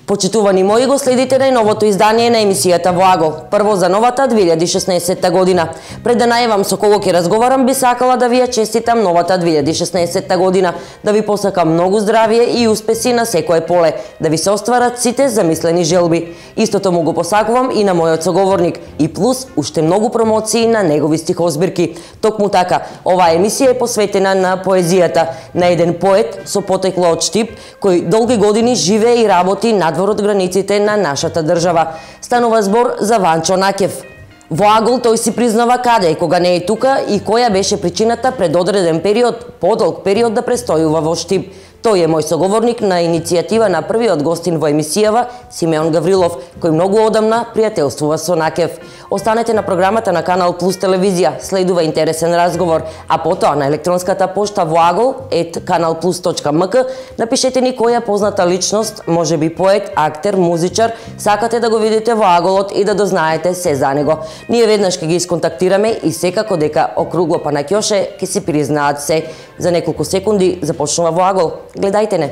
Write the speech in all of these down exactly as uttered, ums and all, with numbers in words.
Почитувани мои, го следите најновото издание на емисијата Во Агол. Прво за новата две илјади и шеснаесетта година. Пред да најавам со кого ќе разговарам, би сакала да ви ја честитам новата две илјади и шеснаесетта година, да ви посакам многу здравје и успеси на секое поле, да ви се остварат сите замислени желби. Истото му го посакувам и на мојот соговорник, и плюс уште многу промоции на негови стихозбирки. Токму така, оваа емисија е посветена на поезијата, на еден поет со потекло од Штип, кој долги години живее и работи надвор од границите на нашата држава. Станува збор за Ванчо Накев. Во Агол тој си признава каде и кога не е тука и која беше причината пред одреден период, подолг период да престојува во Штип. Тој е мој соговорник на иницијатива на првиот гостин во емисијава, Симеон Гаврилов, кој многу одамна пријателствува со Накев. Останете на програмата на Канал Плюс телевизија, следува интересен разговор, а потоа на електронската пошта во агол ет канал плюс точка ем ка напишете ни која позната личност, можеби поет, актер, музичар, сакате да го видите во Аголот и да дознаете се за него. Ние веднаш ќе ги исконтактираме и секако дека округло па на ќоше ќе си признаат се. За неколку секунди започнува Во Агол. Гледајте не.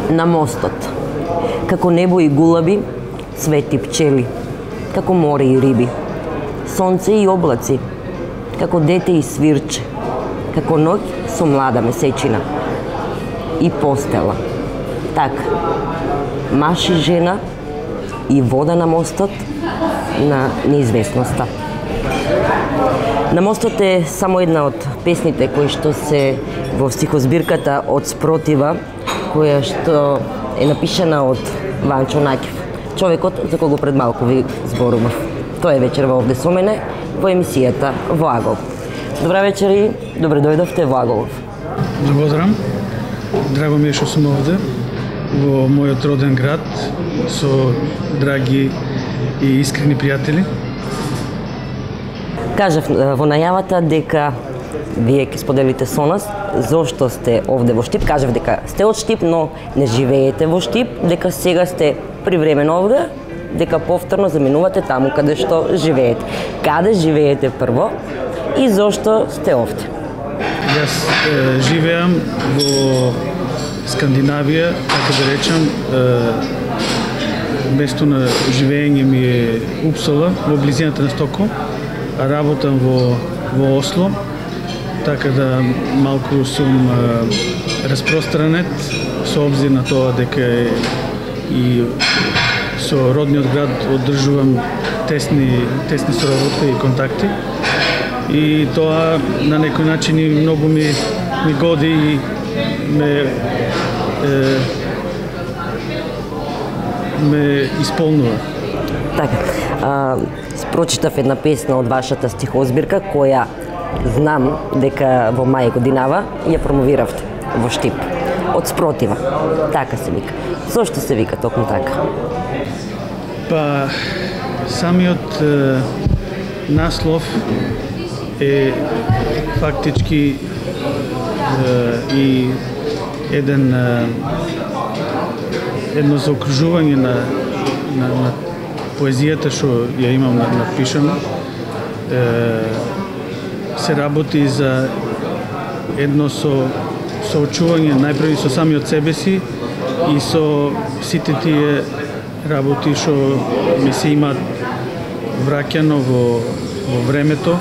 На мостот, како небо и гулаби, цвети пчели, како море и риби, сонце и облаци, како дете и свирче, како ноќ со млада месечина и постела. Така, маж и жена и вода на мостот на неизвестноста. На мостот е само една од песните кои што се во стихозбирката од Спротива, која што е напишана од Ванчо Накев, човекот за кого пред малку ви зборував. Тој е вечерва овде со мене во емисијата Во Агол. Добра вечер и добре дојдовте во Аголов. Благодарам. Драго ми е што сум овде во мојот роден град со драги и искрени пријатели. Кажав во најавата дека вие ќе споделите со нас зошто сте овде во Штип. Кажав дека сте од Штип, но не живеете во Штип, дека сега сте привремено овде, дека повторно заминувате таму каде што живеете. Каде живеете прво и зошто сте овде? Јас е, живеам во Скандинавија, така да речам, е, место на живење ми е Упсала, во близината на Стокхолм, а работам во, во Осло, така да малку сум е, распространет со обзир на тоа дека е, и со родниот град одржувам тесни, тесни соработка и контакти. И тоа на некој начин и многу ми, ми годи и ме, е, ме исполнува. Така, а, прочитав една песна од вашата стихозбирка, која знам дека во мај годинава ја промовиравте во Штип. Од Спротива. Така се вика. Зошто се вика токму така? Па, самиот е, наслов е фактички е, и еден е, едно заокружување на, на, на поезијата што ја имам напишано. Е, се работи за едно со соочување најпрви со самиот себе си и со сите тие работи што ми се имаат враќано во, во времето,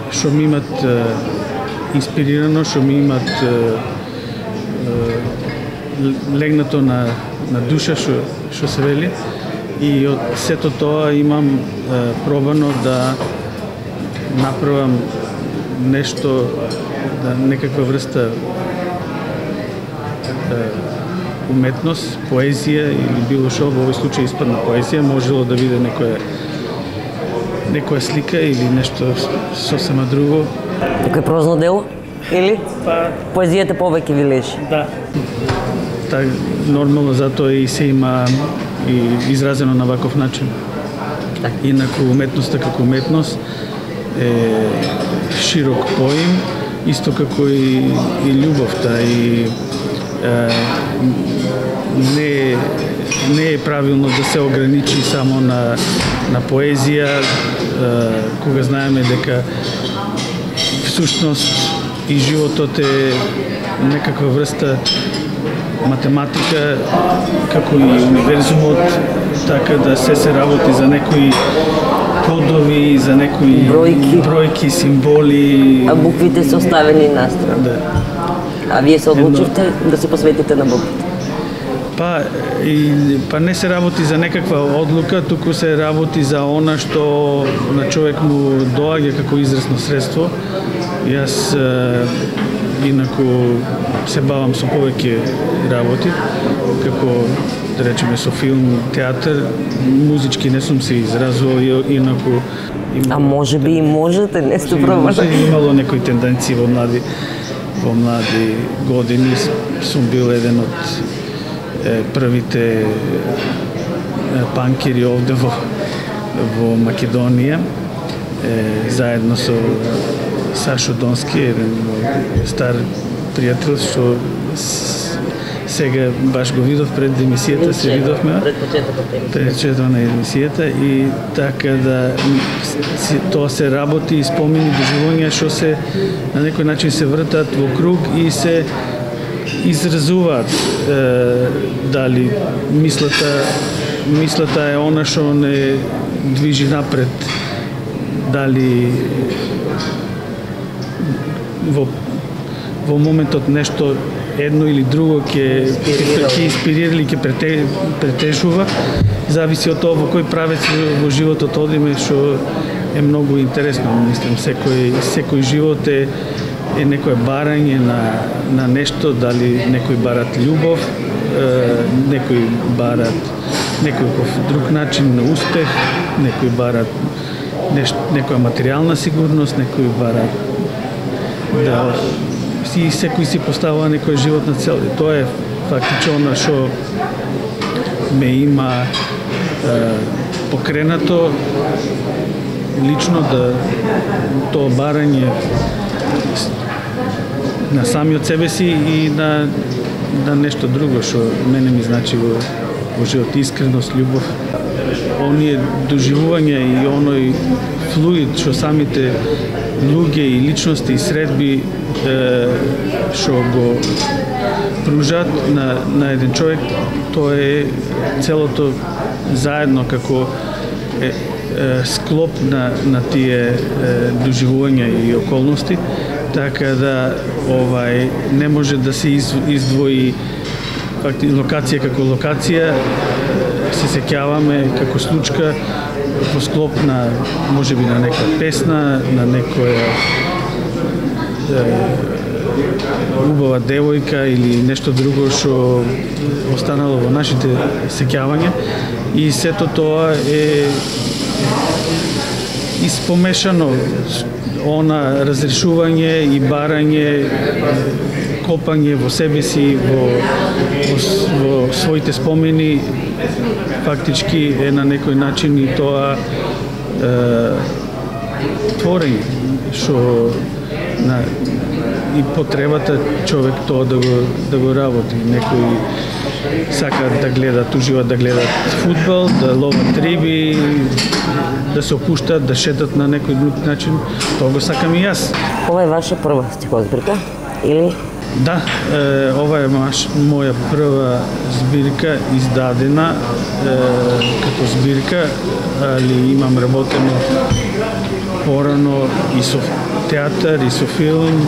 што ми имат е, инспирирано, што ми имат е, е, легнато на, на душа, што, што се вели. И од сето тоа имам е, пробано да направам нешто, да, некаква врста е, уметност, поезија или било што, во овој случај испадна поезија, можело да биде некоја некоја слика или нешто сосема друго. Некој прозно дело? Или? Па, поезијата повеќе ви лежи? Да. Так, нормално, затоа и се има и изразено на ваков начин. Так. Инаку уметноста како уметност е широк поим, исто како и, и љубовта и е, не не е правилно да се ограничи само на на поезија, кога знаеме дека всушност и животот е некаква врста математика, како и универзумот, така да се се работи за некои кодови, за некои бројки, бројки символи. А буквите се оставени настрана. Да. А вие се одлучивте Едно... да се посветите на буквите? Па, и, па не се работи за некаква одлука, туку се работи за она што на човек му доаѓа како изразно средство. Јас е, инаку се бавам со повеќе работи, како да речеме со филм, театар, музички не сум се изразувал, инаку имало, а може би и можете, не сте пробали. Имало некои тенденции во млади во млади години, сум бил еден од е, првите е, панкери овде во во Македонија, е, заедно со Сашо Донски, еден стар пријател што сега баш го видов пред емисијата, се видовме пред почетокот на емисијата и така да тоа се работи и спомени доживувања што се на некој начин се вртат во круг и се изразуваат е, дали мислата мислата е она што не движи напред, дали во во моментот нешто едно или друго ќе ќе инспирира или ќе претежува, зависи од тоа во кој правец во животот одиме, што е многу интересно. Мислам, секој секој живот е е некое барање на на нешто, дали некои барат љубов, е, некои барат некој друг начин на успех, некои барат нешто, некоја материјална сигурност, некои барат да и секој си поставува некоја животна цел. И тоа е фактично што ме има е, покренато лично да тоа барање на самиот себе си и на, на нешто друго што мене ми значи во, во живот, искреност, љубов. Оние доживувања и оној флуид што самите луѓе и личности и средби што го пружат на, на еден човек, тоа е целото заедно како е, е, склоп на, на тие е, доживувања и околности, така да овај не може да се из, издвои факти, локација како локација. Се сеќаваме како случка во склоп на можеби на некоја песна, на некоја убава девојка или нешто друго што останало во нашите сеќавања, и сето тоа е испомешано, она разрешување и барање, копање во себе си, во, во, во своите спомени, фактички е на некој начин и тоа е, творење, што на и потребата човек тоа да го да го работи. Некои сакаат да гледат, уживаат да гледат фудбал, да ловат риби, да се опуштат, да шетат на некој друг начин. Тоа го сакам и јас. Ова е ваша прва стихозбирка или? Да, е, ова е маш, моја прва збирка издадена е, като збирка, али имам работено порано и со театар, и со филм,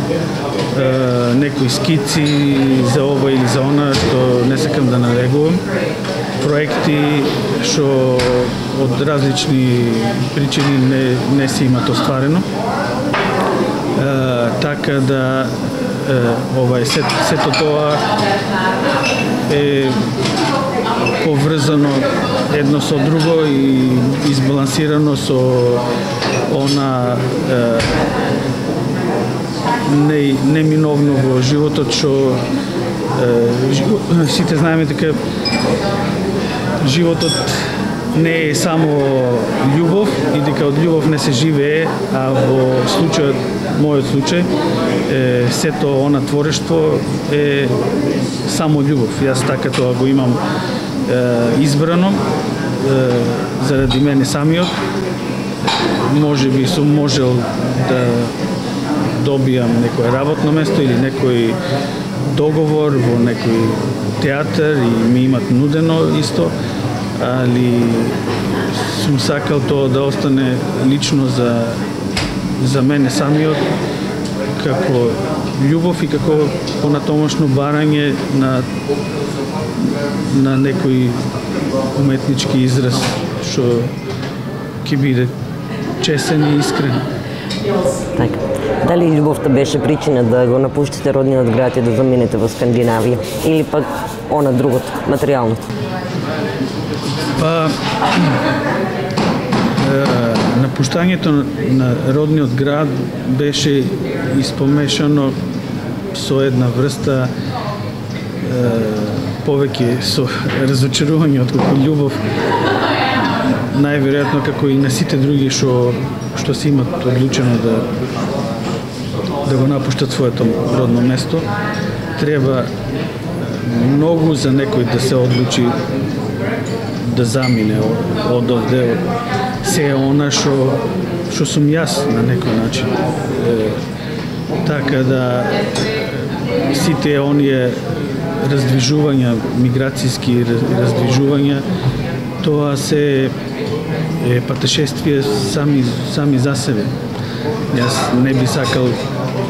е, некои скици за ова или за она, што не сакам да навегувам. Проекти што од различни причини не, не се имат остварено. Е, така да ова е сето тоа е поврзано едно со друго и избалансирано со она е, не, неминовно во животот што е, сите знаеме дека животот не е само љубов и дека од љубов не се живее, а во случајот, мојот случај, е, сето она творештво е само љубов. Јас така тоа го имам избрано заради мене самиот. Може би сум можел да добијам некое работно место или некој договор во некој театар и ми имат нудено исто, али сум сакал тоа да остане лично за за мене самиот како љубов и како понатомашно барање на на некој уметнички израз што ќе биде честен и искрен. Така. Дали љубовта беше причина да го напуштите родниот град и да заминете во Скандинавија? Или пак она другото, материјалното? Па, напуштањето на родниот град беше испомешано со една врста повеќе со разочарување отколку љубов. Најверојатно како и на сите други што што се имат одлучено да да го напуштат своето родно место, треба многу за некој да се одлучи да замине од овде. Се она што што сум јас на некој начин. Е, така да сите оние раздвижувања, миграцијски раздвижувања, тоа се е патешествие сами сами за себе. Јас не би сакал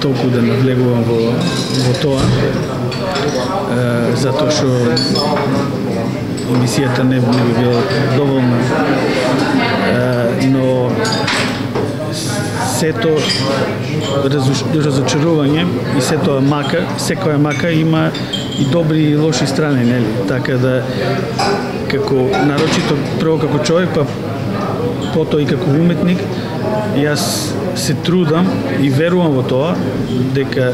толку да навлегувам во во тоа, е, затоа што емисијата не, не би била доволна. Е, но сето разочарување и сето мака, секоја мака има и добри и лоши страни, нели? Така да како нарочито прво како човек, па потоа и како уметник, јас се трудам и верувам во тоа дека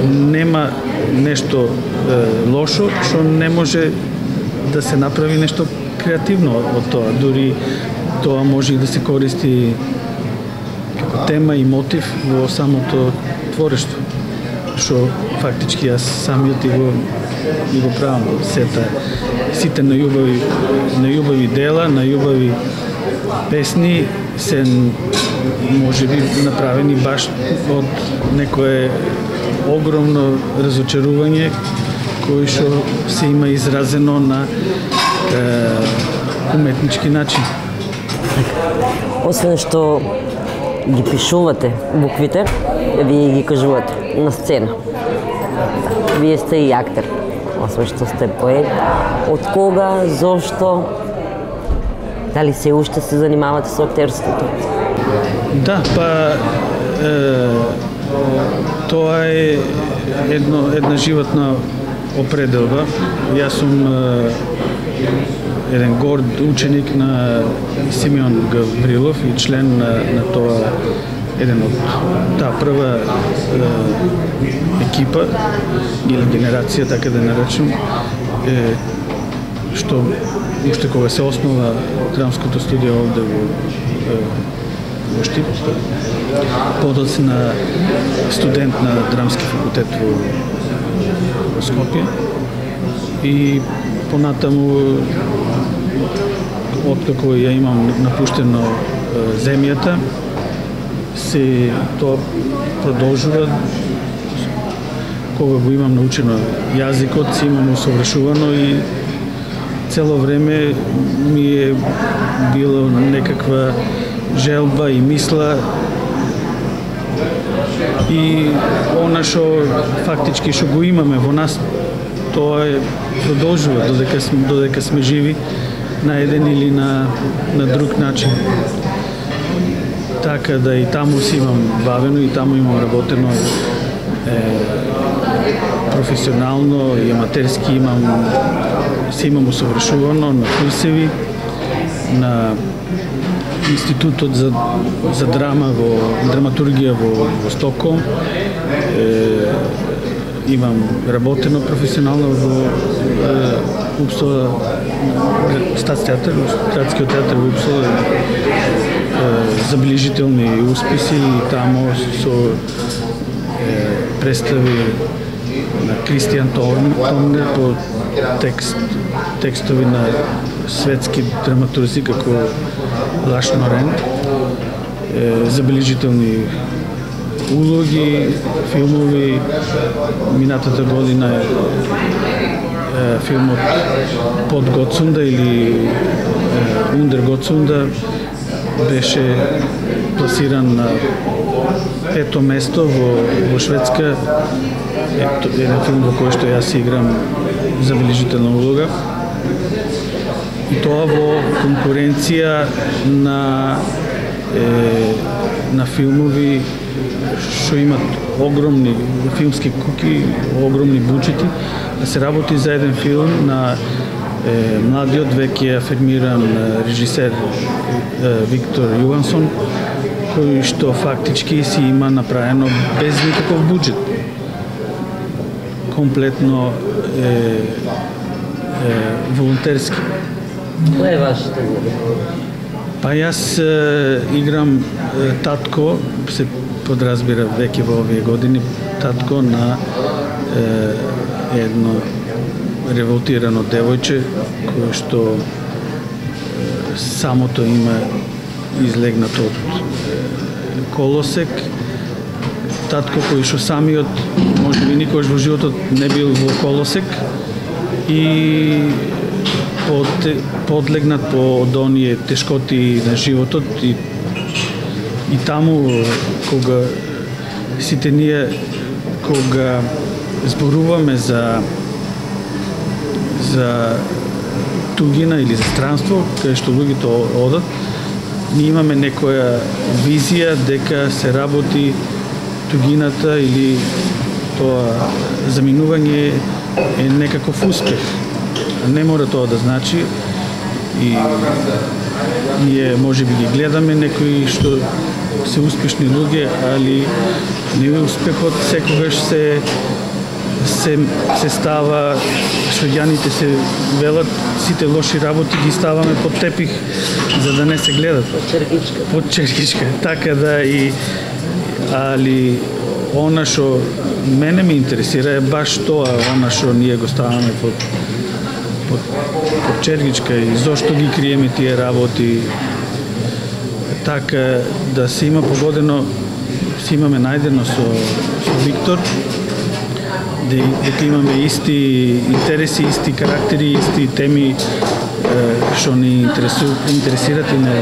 нема нешто е, лошо што не може да се направи нешто креативно од тоа. Дури тоа може и да се користи како тема и мотив во самото творештво, што фактички јас самиот и го и го правам. Сета сите најубави најубави дела, најубави песни се може би направени баш од некое огромно разочарување кој што се има изразено на е, уметнички начин. Освен што ги пишувате буквите, вие ги кажувате на сцена. Вие сте и актер, освен што сте поет. Од кога, зошто, дали се уште се занимавате со актерството? Да, па е, тоа е едно, една животна определба. Јас сум е, еден горд ученик на Симеон Гаврилов и член на, на тоа, еден од таа прва е, екипа или генерација, така да наречем, е, што уште кога се основа драмското студио овде во, во Штип, подоцна студент на драмски факултет во, во Скопје и понатаму откако ја имам напуштено земјата, се тоа продолжува. Кога го имам научено јазикот, се имам усовршувано и цело време ми е било некаква желба и мисла и она што фактички што го имаме во нас, тоа е продолжува додека сме, додека сме живи на еден или на, на друг начин. Така да и таму си имам бавено и таму имам работено е, професионално и аматерски, имам се имам усовршувано на курсеви на Институтот за, за драма во драматургија во, во Стоколм. Е, имам работено професионално во е, Упсала Статстеатар, градскиот театар во Упсала. Е, заближителни успеси и таму со е, представи на Кристијан Томнер по текст текстови на светски драматурзи како Лаш Норен. Забележителни улоги, филмови. Минатата година е филмот Под Готсунда или Ундер Готсунда беше пласиран на пето место во, во Шведска. Ето, еден филм во кој што јас играм забележителна улога. И тоа во конкуренција на е, на филмови што имат огромни филмски куки, огромни буџети, да се работи за еден филм на е, младиот веќе афирмиран режисер е, Виктор Јогансон, кој што фактички си има направено без никаков буџет. Комплетно е, е волонтерски. Која е вашата улога? Па јас е, играм е, татко, се подразбира веќе во овие години, татко на е, едно револтирано девојче, кое што е, самото име излегнато од е, колосек. Татко кој што самиот можеби никогаш во животот не бил во колосек и под, подлегнат по оние тешкоти на животот и и таму кога сите ние кога зборуваме за за тугина или за странство, каде што луѓето одат, ние имаме некоја визија дека се работи тугината или тоа заминување е некаков успех. Не мора тоа да значи и ние може би ги гледаме некои што се успешни луѓе, али неуспехот секогаш се се се става, швеѓаните се велат, сите лоши работи ги ставаме под тепих за да не се гледат. Под черкичка. Под черкичка. Така да и али она што мене ме интересира е баш тоа, она што ние го ставаме под под, под черкичка и зошто ги криеме тие работи. Така да се има погодено, се имаме најдено со, со Виктор, дека имаме исти интереси, исти карактери, исти теми што ни интересу, интересират и не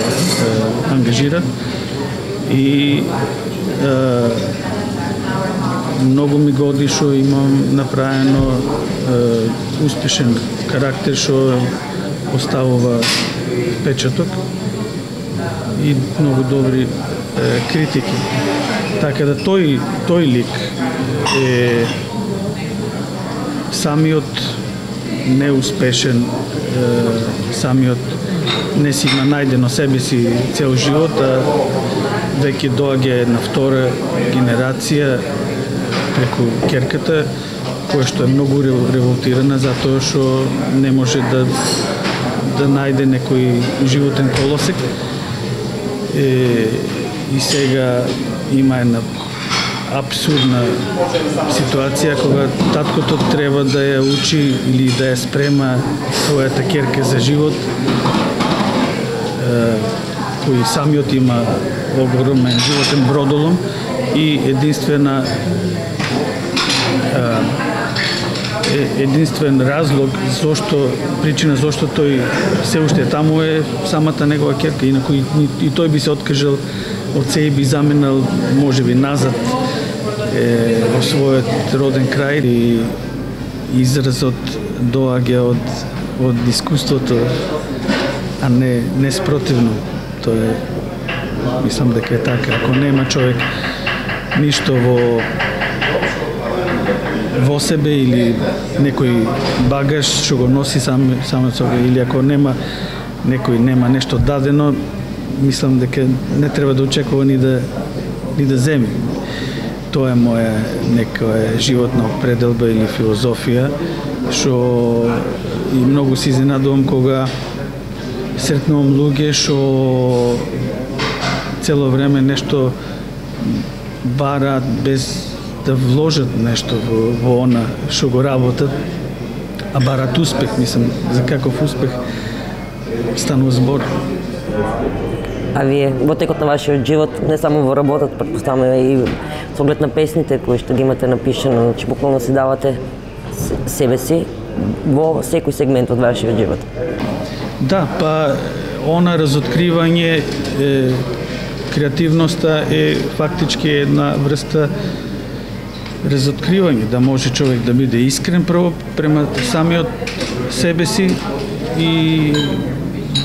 ангажират. И е, многу ми годи што имам направено е, успешен карактер што оставува печаток и многу добри е, критики. Така да тој тој лик е самиот неуспешен, е, самиот не си има најдено себе си цел живот, а веќе доаѓа една втора генерација преку ќерката, која што е многу револтирана затоа што не може да да најде некој животен колосек. Е, и сега има една абсурдна ситуација кога таткото треба да ја учи или да ја спрема својата ќерка за живот, е, кој самиот има огромен животен бродолом и единствена е, единствен разлог зошто причина зошто тој се уште таму е самата негова ќерка, инаку и, и тој би се откажал од се и би заменал можеби назад е, во својот роден крај и изразот доаѓа од од искуството, а не не спротивно. Тоа е, мислам дека е така. Ако нема човек ништо во во себе или некој багаж што го носи сам само со или ако нема некој нема нешто дадено, мислам дека не треба да очекува ни да ни да земи. Тоа е моја некоја животна определба или филозофија, што и многу се изненадувам кога сретнувам луѓе што цело време нешто бараат без да вложат нешто во, во она што го работат, а барат успех, мислам, за каков успех станува збор. А вие во текот на вашиот живот, не само во работата, претпоставаме и со оглед на песните кои што ги имате напишано, значи буквално си давате себе си во секој сегмент од вашиот живот. Да, па она разоткривање, е, креативноста е фактички една врста разоткривање, да може човек да биде искрен прво према самиот себе си и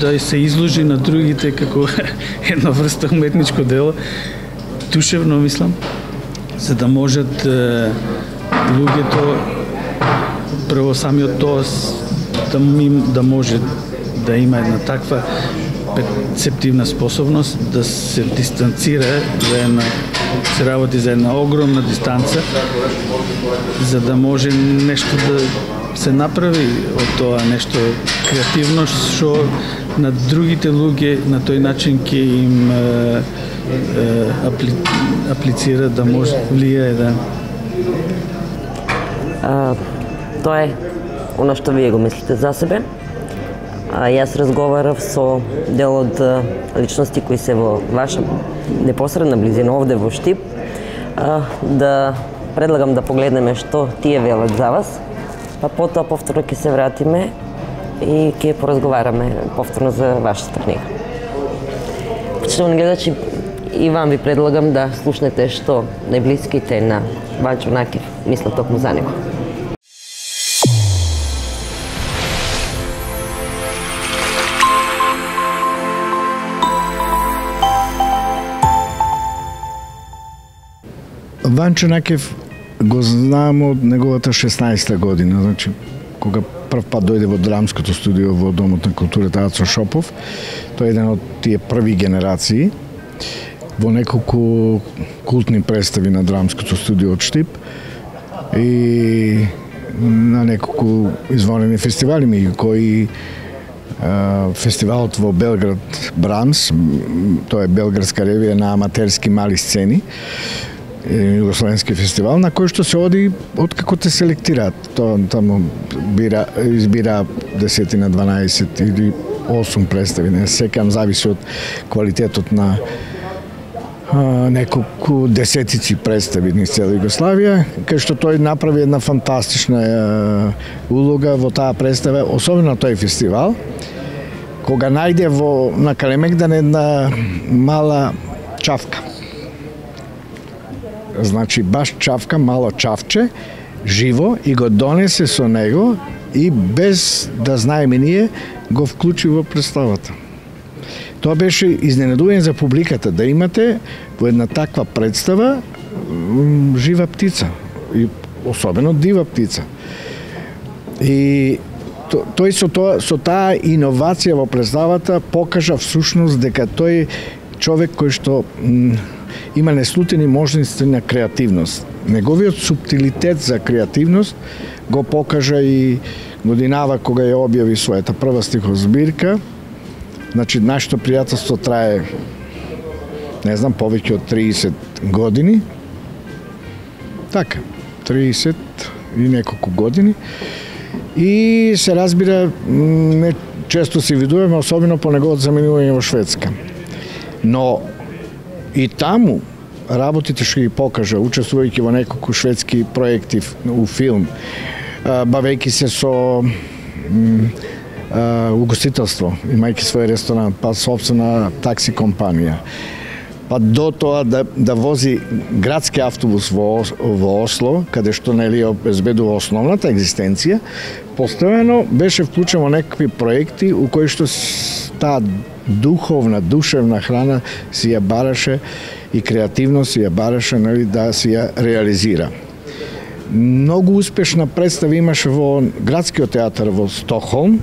да се изложи на другите како една врста уметничко дело, душевно мислам, за да можат е, луѓето прво самиот тоа да, да може да има една таква перцептивна способност да се дистанцира за една, се работи за една огромна дистанца, за да може нешто да се направи од тоа нешто креативно што на другите луѓе на тој начин ќе им е, е, апли, аплицира да може влијае да. А, тоа е она што вие го мислите за себе. А јас разговарав со дел од личности кои се во ваша непосредна близина овде во Штип, а, да предлагам да погледнеме што тие велат за вас, па потоа повторно ќе се вратиме и ќе поразговараме повторно за вашата книга. Почитувани гледачи, и вам ви предлагам да слушнете што најблиските на Ванчо Накев мислат токму за него. Ванчо Накев го знам од неговата шеснаесета година, значи кога прв пат дојде во драмското студио во Домот на културата Ацо Шопов. Тој е еден од тие први генерации во неколку култни представи на драмското студио од Штип и на неколку извонени фестивали, меѓу кои фестивалот во Белград Брамс, тоа е белградска ревија на аматерски мали сцени, Југословенски фестивал, на кој што се оди откако те селектираат. Тоа таму бира, избира десетина, дванаесет или осум представи, не секам, зависи од квалитетот на а, неколку десетици представи низ цела Југославија, кај што тој направи една фантастична а, улога во таа представа, особено тој фестивал, кога најде во на Калемегдан една мала чавка. Значи, баш чавка, мало чавче, живо, и го донесе со него и без да знаеме ние, го вклучи во представата. Тоа беше изненадување за публиката, да имате во една таква представа жива птица, и особено дива птица. И тој со, тоа, со таа иновација во представата покажа всушност дека тој човек кој што има неслутени можности на креативност. Неговиот суптилитет за креативност го покажа и годинава кога ја објави својата прва стихозбирка. Значи, нашето пријателство трае, не знам, повеќе од триесет години. Така, триесет и неколку години. И се разбира, не често се видуваме, особено по неговото заменување во Шведска. Но и таму работите што ги покажа, учествувајќи во неколку шведски проекти у филм, бавејќи се со угостителство, имајќи свој ресторан, па собствена такси компанија, па до тоа да, да вози градски автобус во, во Осло, каде што нели обезбедува основната екзистенција, постојано беше вклучен во некакви проекти у кои што таа духовна, душевна храна си ја бараше и креативност си ја бараше, нели, да си ја реализира. Многу успешна представа имаше во градскиот театар во Стокхолм,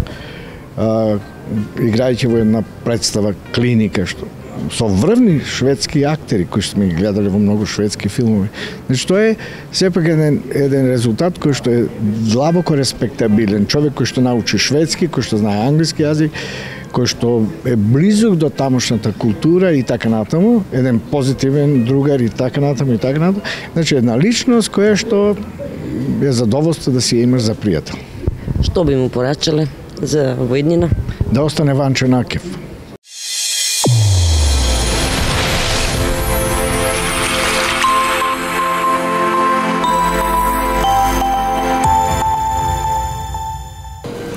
играјќи во една представа Клиника, што со врвни шведски актери кои сме ги гледале во многу шведски филмови. Значи, тоа е сепак еден, еден резултат кој што е длабоко респектабилен. Човек кој што научи шведски, кој што знае англиски јазик, кој што е близок до тамошната култура и така натаму, еден позитивен другар и така натаму и така натаму. Значи една личност која што е задоволство да си имаш за пријател. Што би му порачале за воиднина? Да остане Ванчо Накев.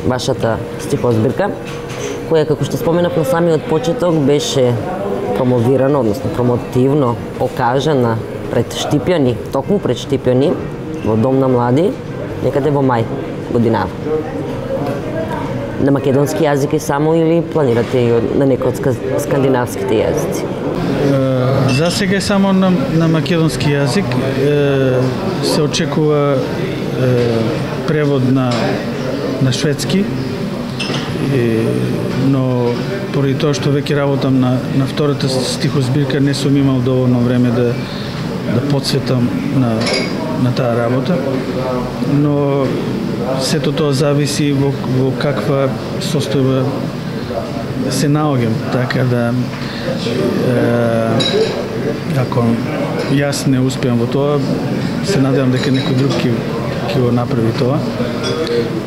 Вашата стихозбирка, која, како што споменав на самиот почеток, беше промовирана, односно промотивно покажана пред Штипјани, токму пред Штипјани, во Дом на млади, некаде во мај годинава. На македонски јазик е само или планирате и на некој од скандинавските јазици? За сега е само на, на македонски јазик. Се очекува превод на на шведски, но поради тоа што веќе работам на, на втората стихозбирка, не сум имал доволно време да, да подсветам на, на таа работа, но сето тоа зависи во, во каква состојба се наоѓам, така да е, ако јас не успеам во тоа, се надевам дека некој друг ќе ќе го направи тоа.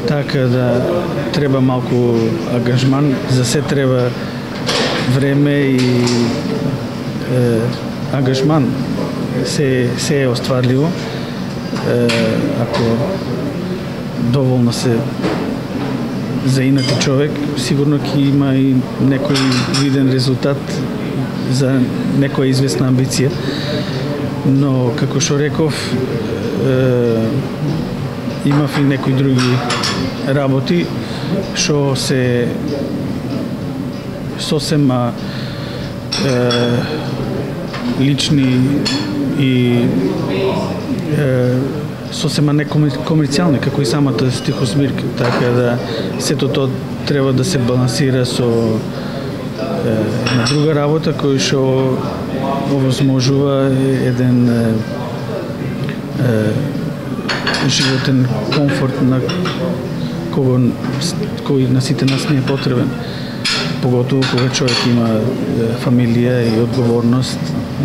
Така да треба малку ангажман, за се треба време и е, ангажман. Се, се е остварливо. Е, ако доволно се заинати човек, сигурно ќе има и некој виден резултат за некоја известна амбиција. Но, како што реков, е, имав и некои други работи што се сосема е, лични и е, сосема некомерцијални, како и самата стихозбирка, така да сето тоа треба да се балансира со е, на друга работа која што овозможува еден е, е, животен комфорт на кого, кој на сите нас не е потребен. Поготово кога човек има фамилија и одговорност,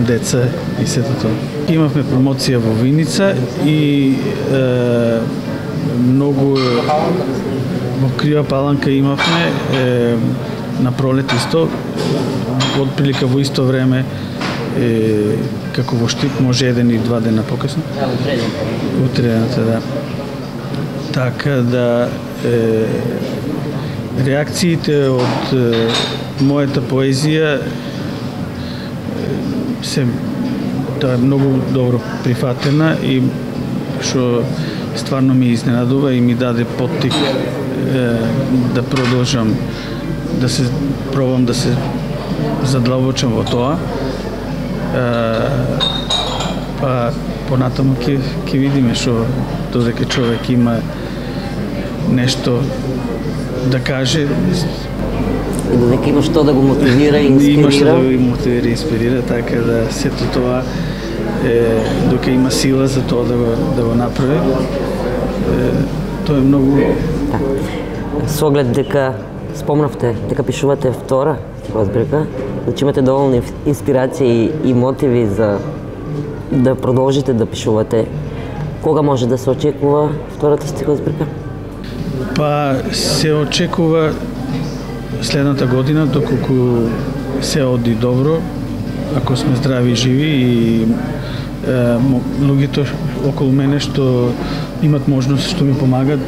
деца и сето тоа. Имавме промоција во Виница и е, многу во Крива Паланка имавме е, на пролет исто, отприлика во исто време е, како во Штип, може еден и два дена покасно. Утредната, да. Така да е, реакциите од е, мојата поезија се тоа е многу добро прифатена и што стварно ми изненадува и ми даде поттик е, да продолжам да се пробам да се задлабочам во тоа. Е, па понатаму ќе ќе видиме што додека човек има нешто да каже и додека има што да го мотивира и инспирира. Има што да го мотивира и инспирира, така да сето тоа е, дока има сила за тоа да го да го направи. Е, тоа е многу. Да. Со оглед дека спомнавте дека пишувате втора стихозбирка, значи имате доволни инспирации и мотиви за да продолжите да пишувате. Кога може да се очекува втората стихозбирка? Па се очекува следната година, доколку се оди добро, ако сме здрави и живи и е, луѓето околу мене што имат можност што ми помагат,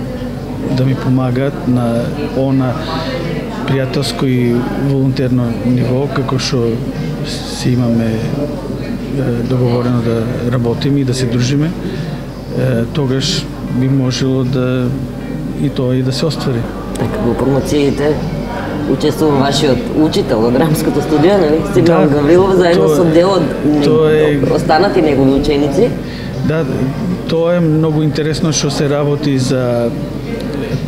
да ми помагаат на она пријателско и волонтерно ниво, како што си имаме договорено да работиме и да се дружиме, тогаш би можело да и тоа и да се оствари. Така, во промоциите учествува вашиот учител од драмското студио, нели? Симеон да, Гаврилов, заедно со дел од е... останати негови ученици. Да, тоа е многу интересно што се работи за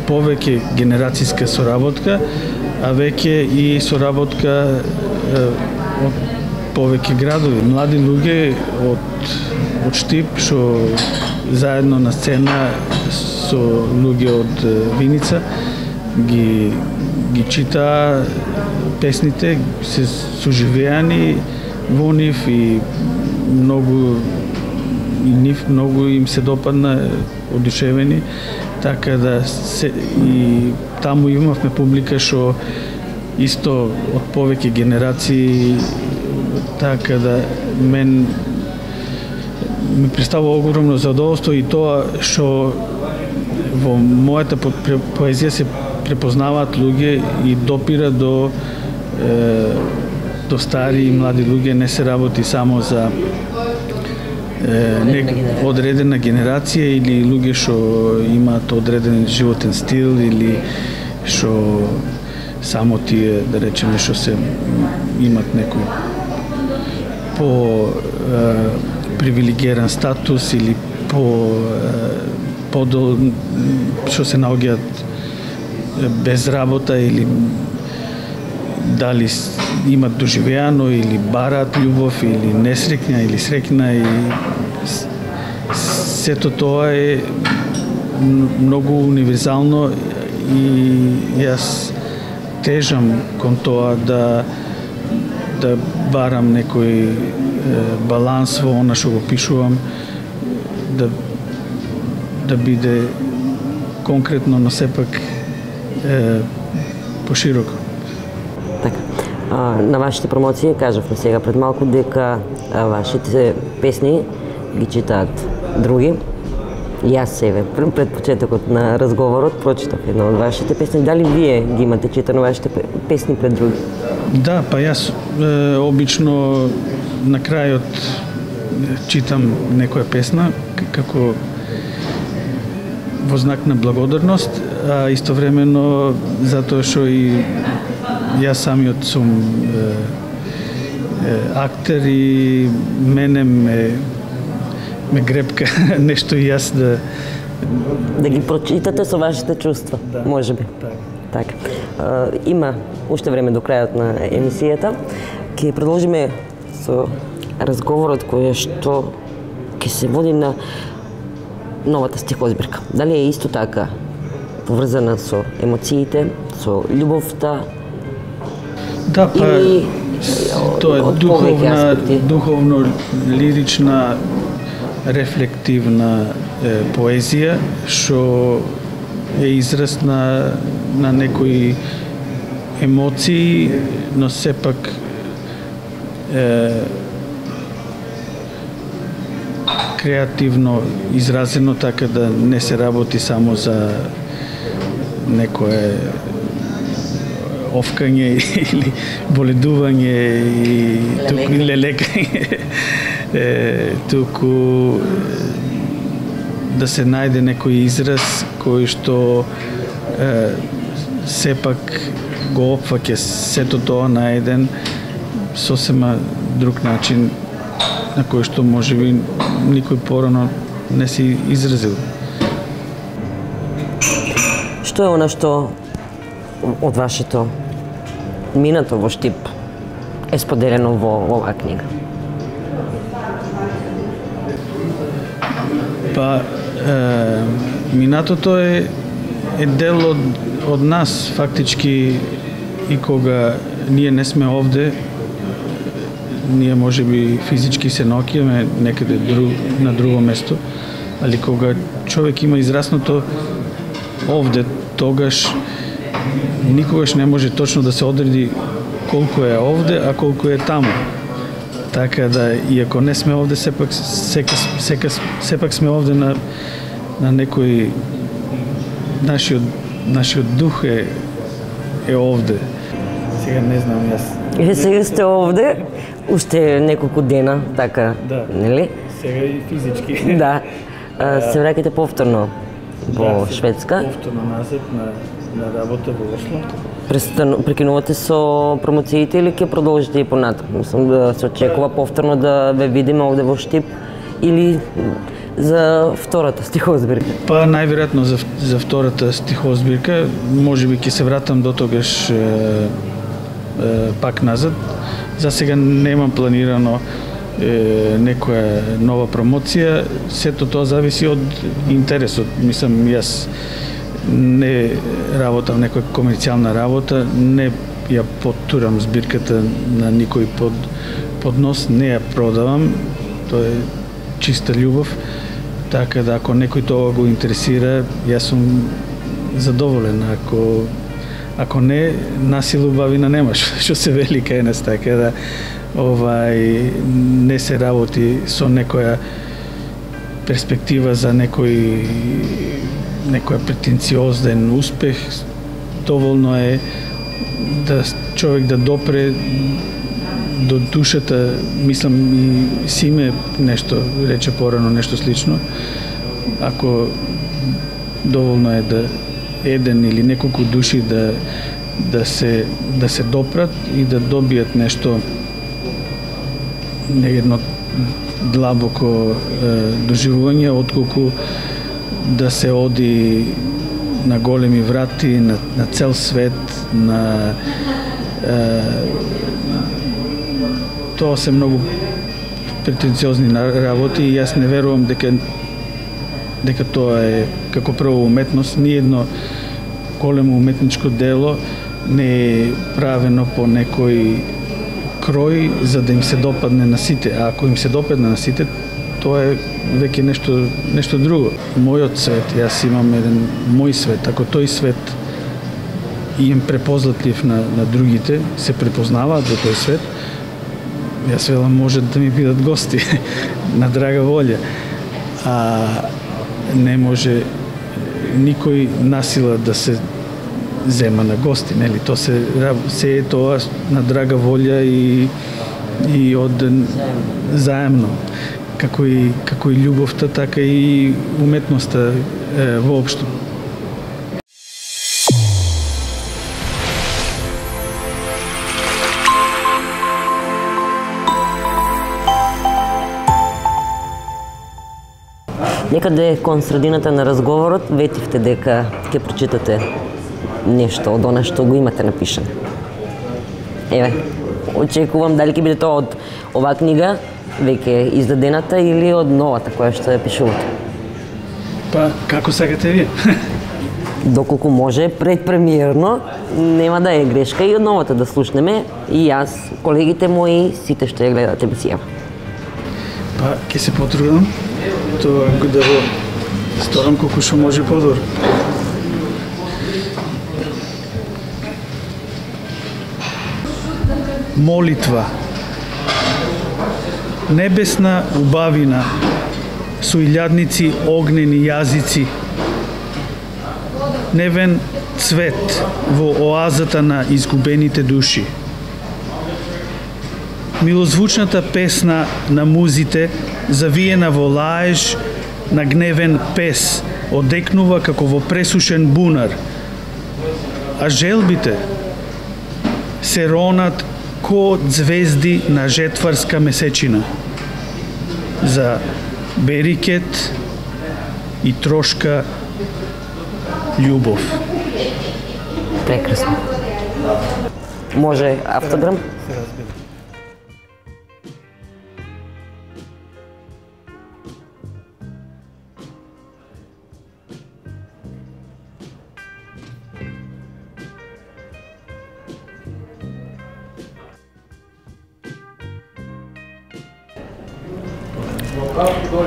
повеќе генерацијска соработка, а веќе и соработка од повеќе градови. Млади луѓе од, од Штип што заедно на сцена со луѓе од Виница ги ги чита песните, се соживеани во нив и многу и нив многу им се допадна, одушевени, така да се, и таму имавме публика што исто од повеќе генерации, така да мен ми представува огромно задоволство и тоа што во мојата поезија се препознаваат луѓе и допира до е, до стари и млади луѓе, не се работи само за е, не, одредена генерација или луѓе што имаат одреден животен стил или што само тие, да речеме, што се имат некој по е, привилегиран статус или по е, подол што се наоѓаат без работа или дали имат доживеано или бараат љубов или несреќна или среќна и сето тоа е многу универзално и јас тежам кон тоа да да барам некој баланс во она што го пишувам, да да биде конкретно, но сепак е, пошироко. Така. А, на вашите промоции кажавме сега пред малку дека а, вашите песни ги читаат други. И јас себе пред почетокот на разговорот прочитав една од вашите песни. Дали вие ги имате читано вашите песни пред други? Да, па јас е, обично на крајот читам некоја песна како во знак на благодарност, а истовремено затоа што и јас самиот сум е, е, актер и мене ме ме гребка нешто и јас да да ги прочитате со вашите чувства, да, можеби. Так. Така. А, има уште време до крајот на емисијата. Ќе продолжиме со разговорот кој што ќе се води на новата стихозбирка. Дали е исто така поврзана со емоциите, со љубовта? Да, па или тоа е духовна, духовно лирична, рефлективна е, поезија што е израз на на некои емоции, но сепак е, креативно изразено, така да не се работи само за некое овкање или боледување и туку или лекање, е, туку да се најде некој израз кој што е, сепак го опфаќа сето тоа на еден сосема друг начин на кој што можеби никој порано не си изразил. Што е она што од вашето минато во Штип е споделено во оваа книга? Па, е, минатото е, е дел од, од нас, фактички, и кога ние не сме овде, ние може би физички се наоѓаме некаде друг, на друго место, али кога човек има израснато овде, тогаш никогаш не може точно да се одреди колку е овде, а колку е таму. Така да, иако не сме овде, сепак, сека, сека, сепак сме овде на, на некој нашиот, нашиот дух е, е овде. Сега не знам јас. Е, сега сте овде, уште неколку дена, така, да, нели? Сега и физички. Да. А, се враќате повторно во да, Шведска. Повторно назад на, на работа во Осло. Престану, прекинувате со промоциите или ќе продолжите и понатаму? Мислам да се очекува повторно да ве видиме овде во Штип или за втората стихозбирка? Па најверојатно за, за втората стихозбирка, можеби ќе се вратам до тогаш е, е, пак назад. За сега немам планирано е, некоја нова промоција, сето тоа зависи од интересот. Мислам, јас не работам некоја комерцијална работа, не ја потурам збирката на никој под поднос, не ја продавам, тоа е чиста љубов, така да ако некој тоа го интересира, јас сум задоволен. Ако ако не, насилу бавина немаш, што се вели кај нас, така да овај не се работи со некоја перспектива за некој некоја претенциозен успех. Доволно е да човек да допре до душата, мислам и Симе нешто рече порано, нешто слично. Ако доволно е да еден или неколку души да да се да се допрат и да добијат нешто, едно длабоко е, доживување, отколку да се оди на големи врати, на, на цел свет, на е, тоа се многу претенциозни работи и јас не верувам дека дека тоа е како прво уметност. Ниедно големо уметничко дело не е правено по некој крој за да им се допадне на сите. А ако им се допадне на сите, тоа е веќе нешто нешто друго. Мојот свет, јас имам еден мој свет. Ако тој свет им препознатлив на на другите, се препознаваат во тој свет, јас велам може да ми бидат гости на драга волја. А не може никој насила да се зема на гости, нели? Тоа се се е тоа на драга волја и и од заемно. Како и како и љубовта, така и уметноста е, воопшто. Некаде кон средината на разговорот ветивте дека ќе прочитате нешто од она што го имате напишано. Еве, очекувам дали ќе биде тоа од оваа книга веќе издадената или од новата која што ја пишувате. Па, како сакате вие? Доколку може предпремиерно, нема да е грешка и од новата да слушнеме и јас, колегите мои, сите што ја гледате емисија. Па, ќе се потрудам тоа да го сторам колку што може подобро. Молитва. Небесна убавина, со илјадници огнени јазици, невен цвет во оазата на изгубените души. Милозвучната песна на музите, завиена во лаеж на гневен пес, одекнува како во пресушен бунар, а желбите се ронат ко звезди на жетварска месечина за берикет и трошка љубов. Прекрасно. Може автограм? Се разбира.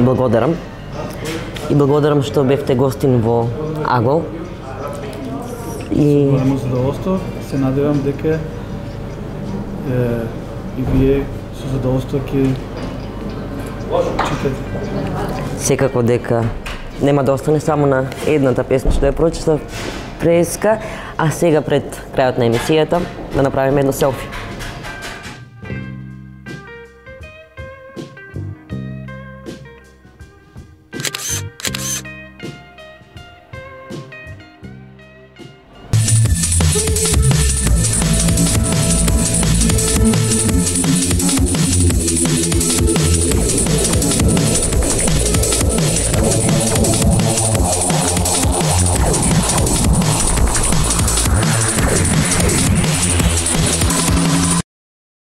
Благодарам. И благодарам што бевте гостин во Агол. И Големо задоволство. Се надевам дека е, и вие со задоволство ќе читате. секако дека нема да остане само на едната песна што ја прочитав преска, а сега пред крајот на емисијата да направиме едно селфи.